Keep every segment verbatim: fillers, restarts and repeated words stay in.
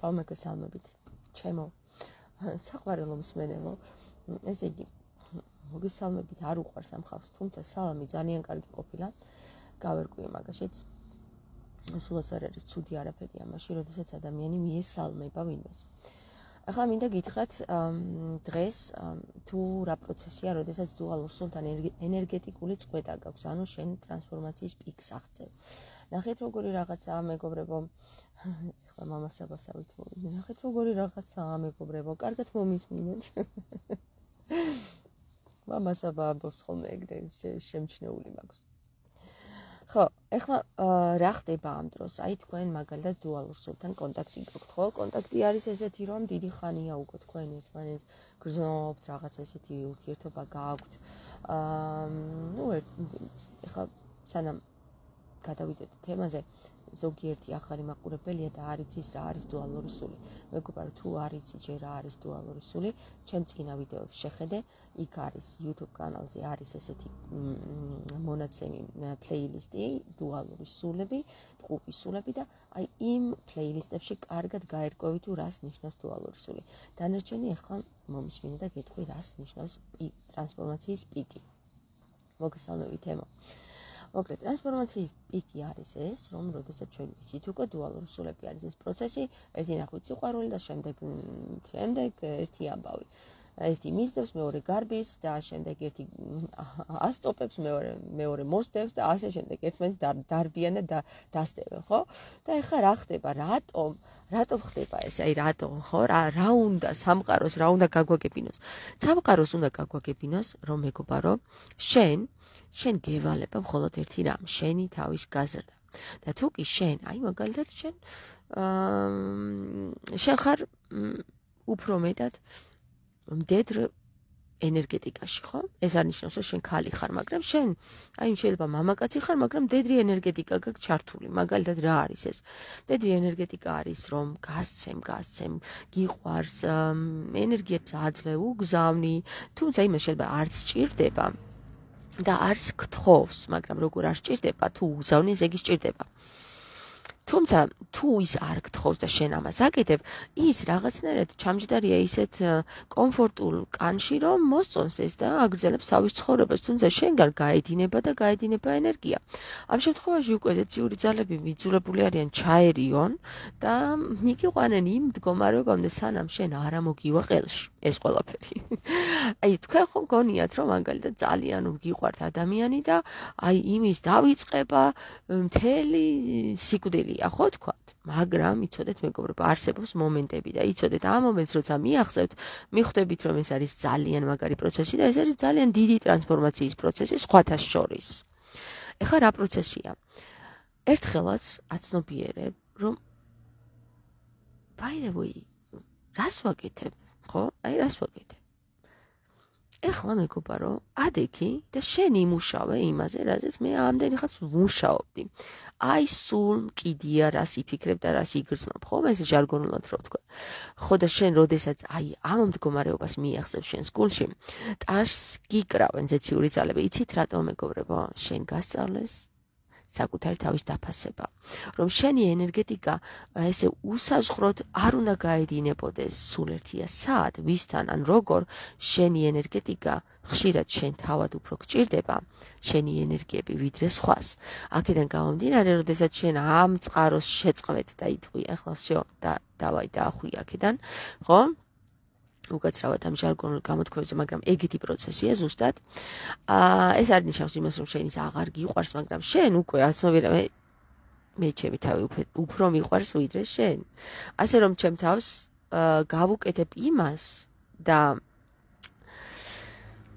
ხვალ მოგესალმებით ჩემო საყვარელო მსმენელო ესე იგი მოგესალმებით არ უყვარს ამ ხალხს თუმცა სალამი ძალიან კარგი ყოფილა გავერკვიე მაგაშიც სულაც არ არის ცუდი არაფერი ამაში როდესაც ადამიანი მიესალმება ვინმეს ახლა მინდა გითხრათ დღეს თუ რა პროცესია როდესაც დუალურ სულთან ენერგეტიკული წყვეტა გაქვს ანუ შენ ტრანსფორმაციის პიკს აღწევ ნახეთ როგორი რაღაცაა მეგობრებო ახლა მამასაბასავით მოვიდე ნახეთ როგორი რაღაცაა მეგობრებო კარგად მომისმინეთ მამასაბა ამბობს ხოლმე ეგრე შემჩნეული მაქვს ხო ახლა რა ხდება ამ დროს აი თქვენ მაგალითად დუალურ სულთან კონტაქტი გაქვთ ხო კონტაქტი არის ესეთი რომ დიდი ხანია უკვე თქვენ ერთმანეთს გრძნობთ რაღაც ესეთი ურთიერთობა გაქვთ აა ნუ ახლა სანამ გადავიდეთ თემაზე ზოგიერთი ახალი მაყურებელია და არ იცის რა არის დუალური სული. მეგობარო თუ არ იცი ჯერ რა არის დუალური სული, ჩემ წინა ვიდეოს შეხედე, იქ არის YouTube კანალზე არის ესეთი მონაცემი პლეილისტი დუალური სულები, ტყუპის სულები და აი იმ პლეილისტებში კარგად გაერკვევი თუ რას ნიშნავს დუალური სული. დანარჩენი ახლა მომისმინე და გეტყვი რას ნიშნავს ტრანსფორმაციის პიკი. მოგესალმები თემო. მოკლედ ტრანსფორმაციის პიკი არის ეს, რომ როდესაც ჩვენ ვიცით უკვე დუალური სულები არის ეს პროცესი, ერთი ნახვით სიყვარული და შემდეგ შემდეგ ერთი ამბავი. ერთი მისდევს, მეორე გარბის და შემდეგ ერთი ასტოპებს, მეორე მეორე მოსდევს და ასე შემდეგ ერთმანეთს დარბიან და დასდევენ, ხო? და ეხლა რა ხდება? რატომ? რატომ ხდება ეს? აი რატომ, ხო? რა რა უნდა სამყაროს, რა უნდა გაგვაგებინოს? სამყაროს უნდა გაგვაგებინოს, რომ მეგობარო, შენ შენ გევალება მხოლოდ ერთი რამ, შენი თავის გაზრდა. და თუ კი შენ, აი მაგალითად შენ აა შენ ხარ უფრო მეტად მდედრ ენერგეტიკაში, ხო? ეს არ ნიშნავს, რომ შენ ქალი ხარ, მაგრამ შენ, აი შეიძლება მამაკაცი ხარ, მაგრამ მდედრი ენერგეტიკა გაქვს ჩართული. მაგალითად რა არის ეს? მდედრი ენერგეტიკა არის, რომ გასცემ, გასცემ, გიყვარს, ენერგიებს აძლევ, უგზავნი, თუმცა იმას შეიძლება არც სჭირდება. და არც გთხოვს, მაგრამ როგორ არ სჭირდება, თუ უგზავნის, ეგ სჭირდება. თუმცა თუ ის არ გთხოვს და შენ ამას აკეთებ, ის რაღაცნაირად ჩამჯდარია ისეთ კომფორტულ კანში, რომ მოსწონს ეს და აგრძელებს თავის ცხოვრებას, თუმცა შენგან გაედინება და გაედინება ენერგია. ამ შემთხვევაში უკვე ზეციური ძალები მიძულებული არიან ჩაერიონ და მიგიყვანენ იმ მდგომარეობამდე, სანამ შენ არ ამოგივა ყელში. ეს ყველაფერი. აი თქვენ ხომ გონიათ რომ მაგალითად ძალიან გიყვართ ადამიანი და აი იმის დავიწყება მთელი სიკვდილია ხო თქვათ მაგრამ იცოდეთ მეგობრებო არსებობს მომენტები და იცოდეთ ამ მომენტს როცა მიახსევთ მიხვდებით რომ ეს არის ძალიან მაგარი პროცესი და ეს არის ძალიან დიდი ტრანსფორმაციის პროცესი სხვათა შორის ეხლა რა პროცესია ერთხელაც აცნობიერებ რომ by the way რას ვაკეთებ ხო? აი რას ვაკეთებ? ეხლა მეგობარო, ადექი და შენ იმუშავე იმაზე, რაზეც მე ამდენი ხანს ვმუშაობდი. აი სულ მკიდია რას იფიქრებ და რას იგრძნობ, ხო? ეს ჟარგონულად რო ვთქვა. ხო და შენ როდესაც აი ამ მდგომარეობას მიახსევ შენს გულში, ტანს გიკრავენ ზეციური ძალები. იცით რატომ მეგობრებო? შენ გასწავლეს საკუთარი თავის დაფასება. რომ შენი ენერგეტიკა ესე უსაზღვროდ არ უნდა გაედინებოდეს სულ ერთია სად, ვისთან ან როგორ შენი ენერგეტიკა ხშირად შენ თავად უფრო გჭირდება, შენი ენერგიები ვიდრე სხვას. აქედან გამომდინარე, როდესაც შენ ამ წყაროს შეწყვეტ და იტყვი, ახლა всё და დავაი დაახვი აქედან, ხო? უკაცრავად ამ ჟარგონულ გამოთქმებზე, მაგრამ ეგეთი პროცესია ზუსტად. აა ეს არ ნიშნავს იმას, რომ შენ ის აღარ გიყვარს, მაგრამ შენ უკვე აცნობიერებ მე მე ჩემი თავი უფრო მიყვარს ვიდრე შენ. ასე რომ ჩემ თავს გავუკეთებ იმას და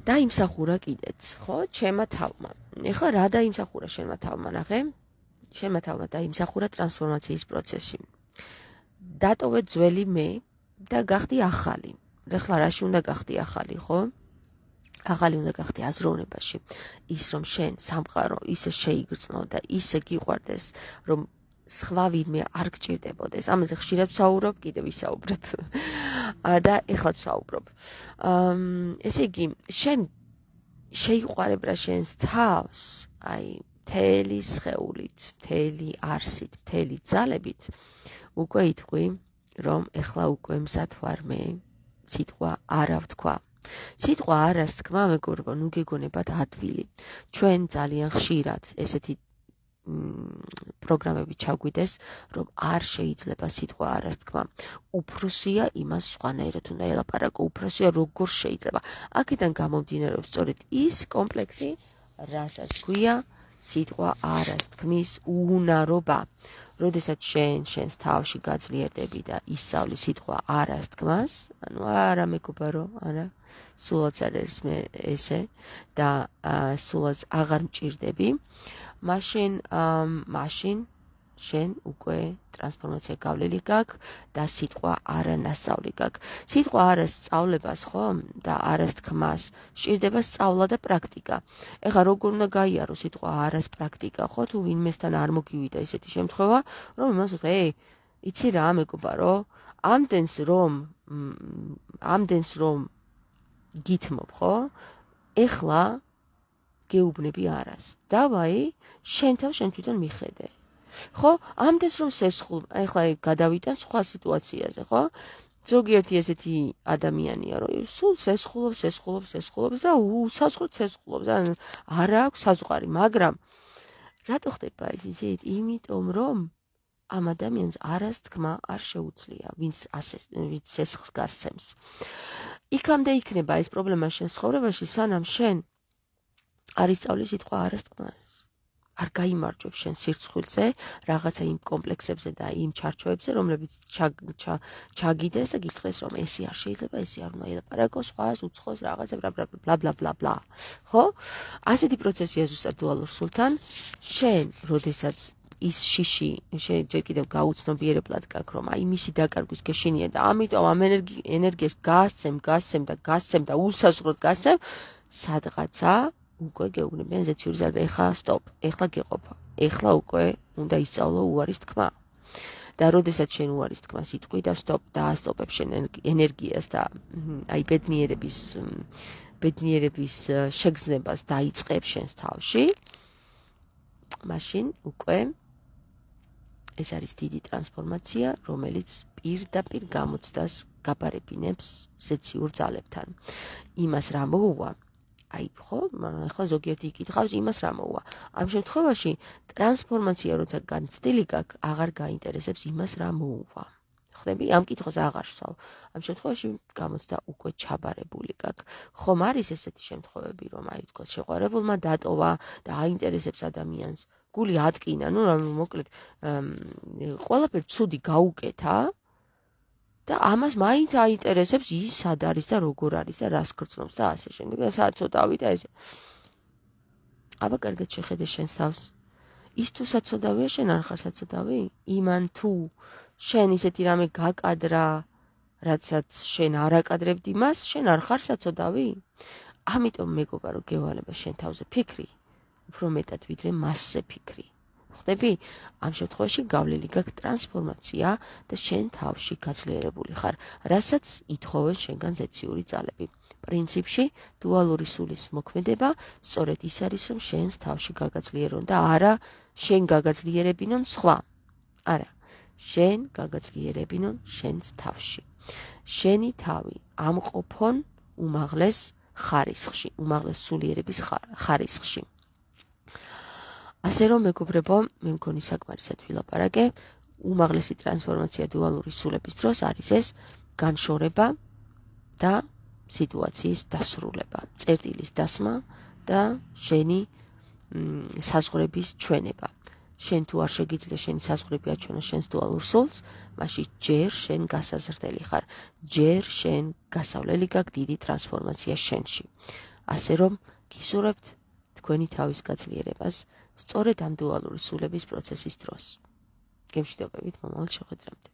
დაიმსახურა კიდეც, ხო? ჩემმა თავმა. ეხლა რა დაიმსახურა შენმა თავმა, ნახე? შენმა თავმა დაიმსახურა ტრანსფორმაციის პროცესი. დატოვე ძველი მე და გახდი ახალი. ეხლა რაში უნდა გახდი ახალი, ხო? ახალი უნდა გახდი აზროვნებაში. ის რომ შენ სამყარო ისე შეიგრძნო და ისე გიყვარდეს, რომ სხვა ვინმე არ გჭირდებოდეს. ამაზე ხშირად ვსაუბრობ, კიდე ვისაუბრებ. და ეხლაც ვსაუბრობ. ესე იგი, შენ შეიყვარებ რა შენს თავს, აი, მთელი სხეულით, მთელი არსით, მთელი ძალებით, უკვე იტყვი რომ ეხლა უკვე მზად ვარ მე სიტყვა არა ვთქვა. სიტყვა არას თქმა, მეგობრებო, ნუ გეგონებათ ადვილი. ჩვენ ძალიან ხშირად ესეთი პროგრამები ჩაგვიდეს, რომ არ შეიძლება სიტყვა არას თქმა. უფროსია იმას სხვანაირად უნდა ელაპარაკო, უფროსია როგორ შეიძლება. აქედან გამომდინარეობს სწორედ ის კომპლექსი, რასაც ქვია სიტყვა არას თქმის უნარობა. როდესაც შენ შენს თავში გაძლიერდები და ისწავლი სიტყვა არას თქმას, ანუ არა მეგობარო, არა, სულაც არ არის მე ესე და სულაც აღარ მჭირდები, მაშინ მაშინ შენ უკვე ტრანსფორმაცია გავლილი გაქვს და სიტყვა არა ნასწავლი გაქვს. სიტყვა არას სწავლებას ხო და არას თქმას სჭირდება სწავლა და პრაქტიკა. ეხლა როგორ უნდა გაიარო სიტყვა არას პრაქტიკა, ხო? თუ ვინმესთან არ მოგივიდა ესეთი შემთხვევა, რომ იმას ვთქვა, ეი, იცი რა მეგობარო, ამდენს რომ ამდენს რომ გითმობ, ხო? ეხლა გეუბნები არას. დავაი, შენ თავ შენ თვითონ მიხედე. ხო, ამდენს რომ სესხულ, ეხლა გადავიტან სხვა სიტუაციაზე, ხო? ზოგიერთი ესეთი ადამიანია, რომ სულ სესხულობს, სესხულობს, სესხულობს და უსასხლოდ სესხულობს. არა აქვს საზღვარი, მაგრამ რატო ხდება ეს იცით? იმიტომ რომ ამ ადამიანს არას თქმა არ შეუძლია, ვინც ასე ვინც სესხლს გასცემს. იქამდე იქნება ეს პრობლემა შენ ცხოვრებაში, სანამ შენ არ ისწავლი სიტყვა არას თქმას. არ გაიმარჯვებ შენ სირცხვილზე, რაღაცა იმ კომპლექსებზე და იმ ჩარჩოებზე, რომლებიც ჩაგიდეს და გითხრეს, რომ ესე არ შეიძლება, ესე არ უნდა ელაპარაკოს, სხვას უცხოს რაღაცა ბლა ბლა ბლა ბლა ბლა. ხო? ასეთი პროცესია ზუსტად დუალურ სულთან. შენ, როდესაც ის შიში, შენ ჯერ კიდევ გაუცნობიერებლად გაქვს, რომ აი მისი დაკარგვის გეშინია და ამიტომ ამ ენერგიას გასცემ, გასცემ და გასცემ და უსაზღვროდ გასცემ, სადღაცა უკვე გეუბნებიან ზეციური ძალები, ეხლა სტოპ, ეხლა გეყოფა, ეხლა უკვე უნდა ისწავლო უარის თქმა. და როდესაც შენ უარის თქმას იტყვი და სტოპ და ასტოპებ შენ ენერგიას და აი ბედნიერების ბედნიერების შეგრძნებას დაიწყებ შენს თავში, მაშინ უკვე ეს არის დიდი ტრანსფორმაცია, რომელიც პირდაპირ გამოცდას გაბარებინებს ზეციურ ძალებთან. იმას რა მოუვა? აი ხო, ახლა ზოგიერთი იკითხავს იმას რა მოუვა. ამ შემთხვევაში ტრანსფორმაცია როცა განცდილი გაქვს, აღარ გაინტერესებს იმას რა მოუვა. ხვდები? ამ კითხვას აღარ სვავ. ამ შემთხვევაში გამოცდა უკვე ჩაბარებული გაქვს. ხომ არის ესეთი შემთხვევები, რომ აი თქო შეყვარებულმა დატოვა და აინტერესებს ადამიანს, გული ატკინა, ნუ მოკლედ ყველაფერი ცუდი გაუკეთა და ამას მაინც აინტერესებს ის სად არის და როგორ არის და რას გრძნობს და ასე შემდეგ. და საცოდავი და ესე. აბა კარგად შეხედე შენს თავს. ის თუ საცოდავია, შენ არ ხარ საცოდავი? იმან თუ შენ ისეთი რამე გაკადრა, რაცაც შენ არ აკადრებდი მას, შენ არ ხარ საცოდავი? ამიტომ მეგობარო, გევალება შენ თავზე ფიქრი, უფრო მეტად ვიდრე მასზე ფიქრი. ხვდები? ამ შემთხვევაში გავლილი გაქვს ტრანსფორმაცია და შენ თავში გაძლიერებული ხარ, რასაც ითხოვენ შენგან ზეციური ძალები. პრინციპში დუალური სულის მოქმედება სწორედ ის არის, რომ შენს თავში გაგაძლიერონ და არა შენ გაგაძლიერებინონ სხვა. არა, შენ გაგაძლიერებინონ შენს თავში. შენი თავი ამყოფონ უმაღლეს ხარისხში, უმაღლეს სულიერების ხარისხში. ასე რომ მეგობრებო, მე მგონი საკმარისად ვილაპარაკე, უმაღლესი ტრანსფორმაცია დუალური სულების დროს არის ეს განშორება და სიტუაციის დასრულება, წერტილის დასმა და შენი საზღვრების ჩვენება. შენ თუ არ შეგიძლია შენი საზღვრები აჩვენო შენს დუალურ სულს, მაშინ ჯერ შენ გასაზრდელი ხარ, ჯერ შენ გასავლელი გაქვს დიდი ტრანსფორმაცია შენში. ასე რომ გისურვებთ თქვენი თავის გაძლიერებას სწორედ ამ დუალური სულების პროცესის დროს. გემშვიდობებით მომავალ შეხვედრამდე.